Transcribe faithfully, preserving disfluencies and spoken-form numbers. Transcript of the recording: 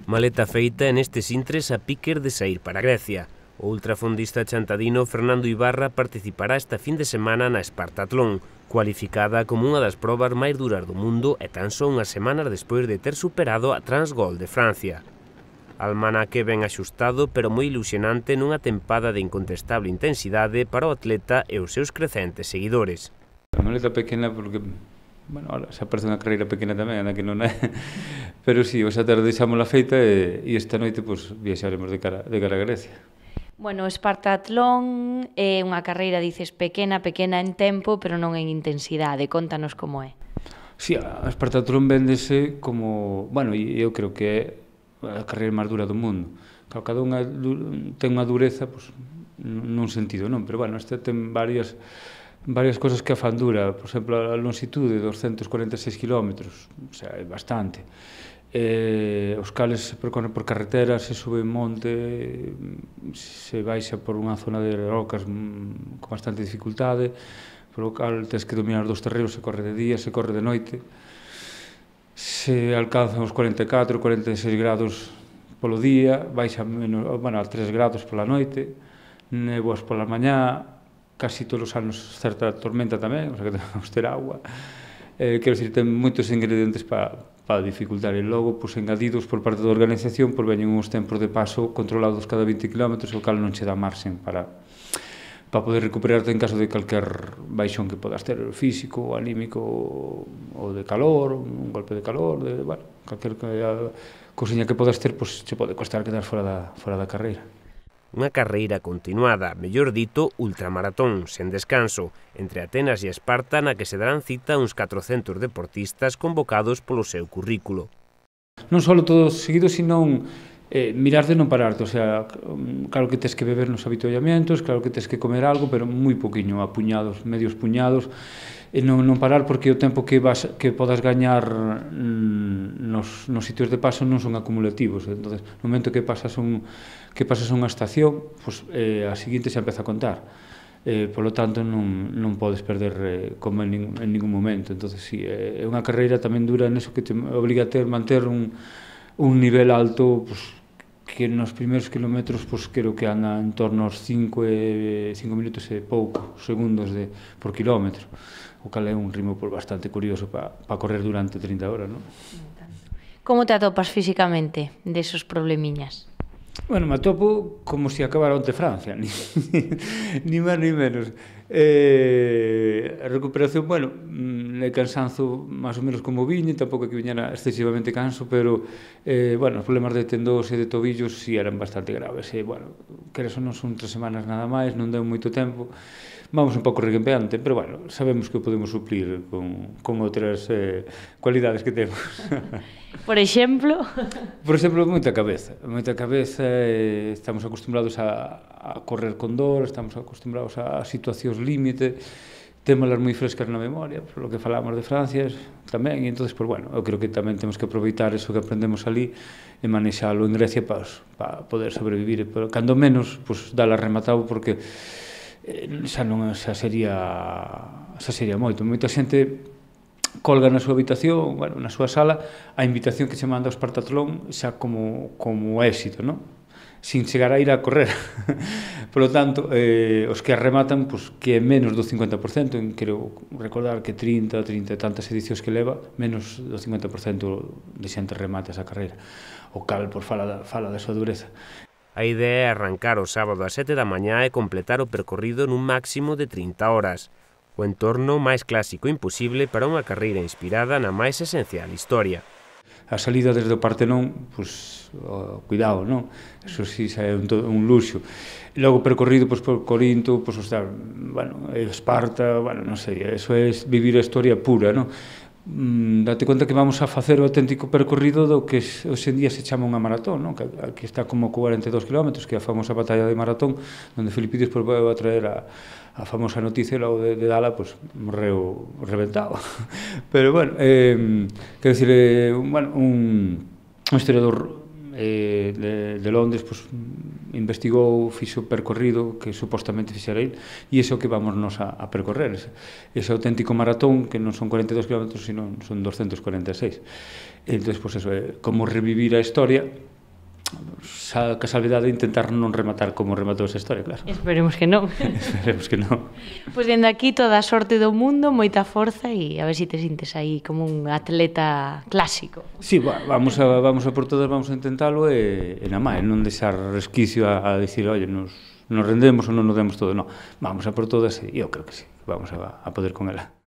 Maleta feita e nestes intres a piques de saír para Grecia. O ultrafondista chantadino Fernando Ibarra participará esta fin de semana na Espartatlón, cualificada como unha das probas máis duras do mundo e tan só unhas semanas despois de ter superado a Transgol de Francia. Almanaque ben axustado, pero moi ilusionante nunha tempada de incontestable intensidade para o atleta e os seus crecentes seguidores. A maleta pequena porque, bueno, ahora xa parece unha carreira pequena tamén, anda que non é, pero si, sí, xa tarde deixamos a feita e, e esta noite pues, viaxaremos de cara, de cara a Grecia. Bueno, o Espartatlón é unha carreira, dices, pequena, pequena en tempo, pero non en intensidade. Contanos como é. Si, sí, a Espartatlón véndese como, bueno, e eu creo que é a carreira máis dura do mundo. Claro, cada unha ten unha dureza, pues, nun sentido, non? Pero, bueno, esta ten varias... varias cosas que a fan dura, por exemplo, a longitude de doscientos cuarenta e seis kilómetros, o sea, é bastante. Eh, os cales se percorren por carretera, se sube en monte, se baixa por unha zona de rocas con bastante dificultade, polo cal tens que dominar dos terreos, se corre de día, se corre de noite, se alcanzan os cuarenta e catro, cuarenta e seis grados polo día, baixa menos, bueno, a tres grados pola noite, néboas pola mañá, casi todos os anos certa tormenta tamén, o sea que temos ter agua. Eh, quero dicir, ten moitos ingredientes para pa dificultar. E logo, pues, engadidos por parte da organización, pues, veñen uns tempos de paso controlados cada vinte kilómetros, o cal non che dá marxen para, para poder recuperarte en caso de calquer baixón que podas ter, físico, anímico, ou de calor, un golpe de calor, de, bueno, calquer cousiña que podas ter, pues, che pode costar quedar fora da, fora da carreira. Unha carreira continuada, mellor dito, ultramaratón, sen descanso, entre Atenas e Esparta, na que se darán cita uns catrocentos deportistas convocados polo seu currículo. Non só todo seguido, senón eh, mirar de non pararte, o sea, claro que tes que beber nos habituallamentos, claro que tes que comer algo, pero moi poquinho, a puñados, medios puñados, e non, non parar porque o tempo que, vas, que podas gañar mm, nos, nos sitios de paso non son acumulativos. Entonces, no momento que pasas, un, que pasas unha estación, pues, eh, a seguinte xa empeza a contar. Eh, polo tanto, non, non podes perder eh, como en, nin, en ningún momento. Entonces, sí, é eh, unha carreira tamén dura neso que te obriga a ter, manter un, un nivel alto, pues, que nos primeiros kilómetros, pues, creo que anda en torno aos cinco minutos e pouco segundos de, por kilómetro, o cal é un ritmo pues, bastante curioso para pa correr durante trinta horas, non? Como te atopas físicamente desos problemiñas? Bueno, me atopo como se si acabara onte Francia, ni, ni máis ni menos. Eh, a recuperación, bueno, é cansanzo máis ou menos como viñe, tampouco que viñera excesivamente canso, pero, eh, bueno, os problemas de tendós e de tobillos si eran bastante graves. E, bueno, que eso non son tres semanas nada máis, non deu moito tempo. Vamos un pouco reguempeante, pero, bueno, sabemos que o podemos suplir con, con outras eh, cualidades que temos. Por exemplo? Por exemplo, moita cabeza. Moita cabeza, eh, estamos acostumbrados a, a correr con dor, estamos acostumbrados a situacións límite, témolas moi frescas na memoria, por lo que falamos de Francia tamén, e entón, pues, bueno, eu creo que tamén temos que aproveitar eso que aprendemos ali e manexalo en Grecia para pa poder sobrevivir, pero cando menos, pues, dala rematado, porque eh, xa non xa sería xa sería moito. Moita xente colga na súa habitación, bueno, na súa sala, a invitación que se manda ao Espartatlón xa como, como éxito, non? Sin chegar a ir a correr. Por lo tanto, eh, os que arrematan, pues, que é menos do cincuenta por cento, en, quero recordar que trinta, trinta e tantas edicións que leva, menos do cincuenta por cento de xente remata esa carreira. O cal, por fala da, fala da súa dureza. A idea é arrancar o sábado ás sete da mañá e completar o percorrido nun máximo de trinta horas. O entorno máis clásico imposible para unha carreira inspirada na máis esencial historia. A salida desde o Partenón, pues, oh, cuidado, non? Eso sí, xa é un, un luxo. E logo percorrido, pues, por Corinto, pues, o sea, bueno, Esparta, bueno, non sei, eso é vivir a historia pura, non? Mm, date conta que vamos a facer o auténtico percorrido do que hoxe en día se chama unha maratón, non? Que, que está como cuarenta e dous kilómetros, que é a famosa batalla de Maratón, onde Filipides pues, vai a traer a, a famosa noticia logo de, de Dala, pues, morreu reventado. Pero, bueno, eh, quero dicir, eh, bueno, un, un historiador eh, de, de Londres, pues, investigou, fixo percorrido que supostamente fixera ele, e iso que vamos nos a, a percorrer, ese, ese auténtico maratón, que non son cuarenta e dous kilómetros, sino son doscientos cuarenta e seis. Entón, pues, eso é como revivir a historia, xa que a salvedade de intentar non rematar como rematou esa historia, claro. Esperemos que non. Esperemos que non. Pois dende aquí toda a sorte do mundo, moita forza e a ver se te sintes aí como un atleta clásico. Sí, va, vamos a, vamos a por todas, vamos a intentalo e, e na máis, non deixar resquicio a, a dicir, oye, nos, nos rendemos ou non nos demos todo, non. Vamos a por todas e eu creo que sí, vamos a, a poder con ela.